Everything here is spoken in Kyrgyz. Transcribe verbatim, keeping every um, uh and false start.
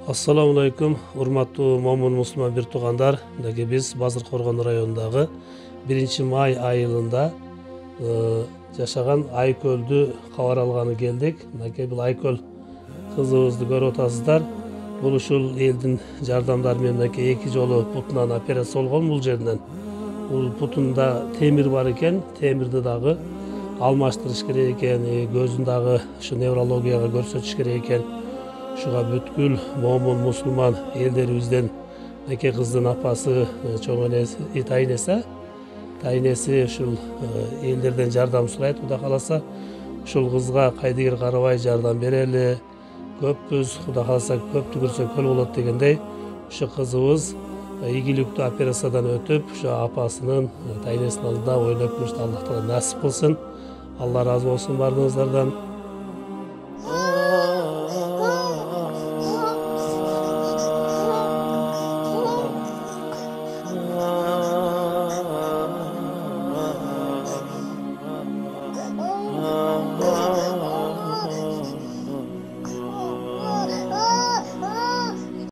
Assalamu alaikum, урматтуу момун мусулман бир туугандар. Мынакей биз Базыр Коргон районундагы биринчи май айылында жашаган Айкөлдү кабар алганы келдик. Мынакей бул Айкөл кызыбызды көрүп атасыздар. Бул ушул элдин жардамдары менен мынакей эки жолу бутунан операция болгон бул жеринен. Бул бутунда темир бар экен, темирди дагы алмаштырыш керек экен, көзүн дагы ушу неврологияга көрсөтүш керек экен. Ушуга бүткүл момун мусулман элдерибизден эки кыздын апасы, чоң энеси, тайнеси, тайнеси ушул элдерден жардам сурайт. Кудай кааласа, ушул кызга кайдыгер карабай жардам берели. Көппүз, Кудай кааласа, көптү көрсө көл болот дегендей, ушу кызыбыз ийгиликтүү операциядан өтүп, ушу апасынын, тайнесинин алдында ойноп жүрүштү. Аллах таала насип кылсын. Алла ыраазы болсун баарыңыздардан.